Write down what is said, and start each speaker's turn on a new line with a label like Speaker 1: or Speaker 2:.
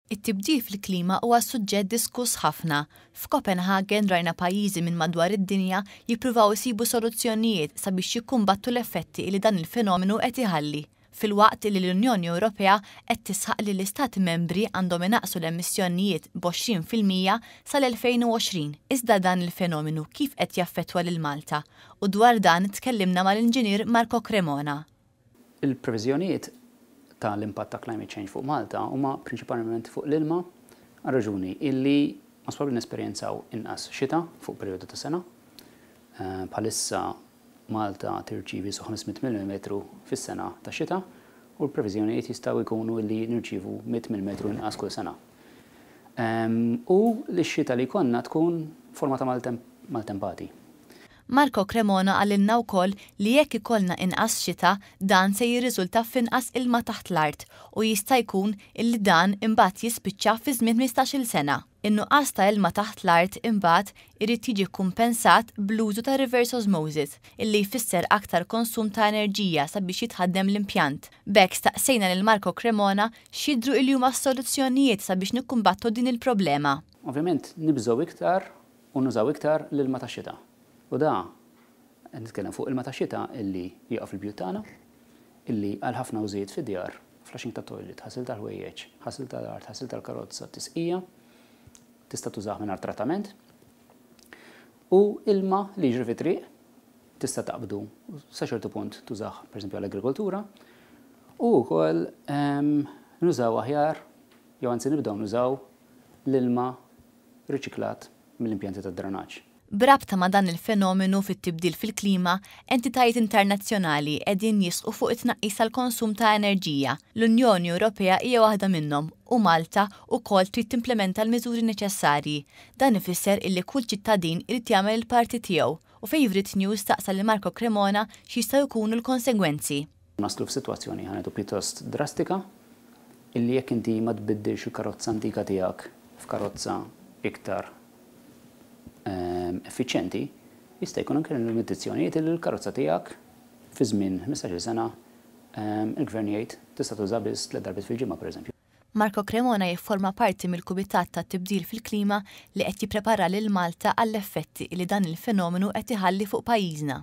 Speaker 1: It-tibdil fil-klima huwa suġġett diskuss ħafna. F'Copenhagen rajna pajjiżi minn madwar id-dinja jippruvaw isibu soluzzjonijiet sabiex jikkumbattu l-effetti li dan il-fenomenu qed iħalli. Filwaqt li l-Unjoni Ewropea qed tisħaq li l-Istati membri għandhom inaqqsu l-emissjonijiet b'20% sal-2020. Iżda dan il-fenomenu kif qed jaffettwa lil Malta? U dwar dan tkellimna mal-Inġinier Marco Cremona.
Speaker 2: Il-previżjonijiet ta' l-impatt ta' climate change fuq Malta huma prinċipalment fuq l-ilma għar-raġuni illi most probabbli nesperjenzaw inqas xita fuq perjodu ta' sena. Bħalissa Malta tirċievi su 500 millimetru fis-sena ta' xita u l-previżjonijiet jistgħu jkunu illi nirċievu 100 millimetru inqas kull sena. U li x-xita li jkollna tkun forma ta' maltempati.
Speaker 1: Marco Cremona qalilna wkoll li jekk ikollna inqas xita, dan se jirriżulta f'inqas ilma taħt l-art u jista' jkun illi dan imbagħad jispiċċa fi żmien 15-il sena. In-nuqqas ta' ilma taħt l-art imbagħad irid jiġi kkumpensat bl-użu ta' reverse osmosis, illi jfisser aktar konsum ta' enerġija sabiex jitħaddem l-impjant. B'hekk staqsejna lil Marco Cremona x'jidhru illi huma s-soluzzjonijiet sabiex nikkumbattu din il-problema.
Speaker 2: Ovvjament nibżgħu iktar u nużaw iktar l-ilma tax-xita. U da qed nitkellem fuq ilma tax-xita illi jaqa' fil-bjut tagħna, illi għal ħafna użijiet fid-djar, flushing tat-toilet, ħasil tal-ħwejjeġ, ħasil tal-art, ħasil tal-karozza, tisqija, tista' tużah mingħajr trattament. U ilma li jiġri fit-triq tista' taqbdu sa ċertu punt tużah pereżempju għall-agrikoltura u wkoll nużaw aħjar jew anzi nibdew nużaw l-ilma riċiklat mill-impjanti tad-drenaġġ.
Speaker 1: B'rabta ma' dan il-fenomenu fit-tibdil fil-klima, entitajiet internazzjonali qegħdin jisħqu fuq it-tnaqqis tal-konsum ta' enerġija. L-Unjoni Ewropea hija waħda minnhom u Malta wkoll trid timplementa l-miżuri neċessarji. Dan ifisser illi kull ċittadin irid jagħmel il-parti tiegħu u Favourite News staqsa lil Marco Cremona x'jistgħu jkunu l-konsegwenzi.
Speaker 2: Naslu f'sitwazzjoni, ħa ngħidu, pjuttost drastika illi jekk inti ma tbiddilx il-karozza antika tiegħek f'karozza iktar effiċjenti, jista' jkun anke limitazzjonijiet illi l-karozza tiegħek fi żmien 15-il sena il-gvern jgħid tista' tuża biss tliet darbiet fil-ġimgħa, pereżempju.
Speaker 1: Marco Cremona jifforma parti mill-Kumitat tat-Tibdil fil-Klima li qed jipprepara lil Malta għall-effetti li dan il-fenomenu qed iħalli fuq pajjiżna.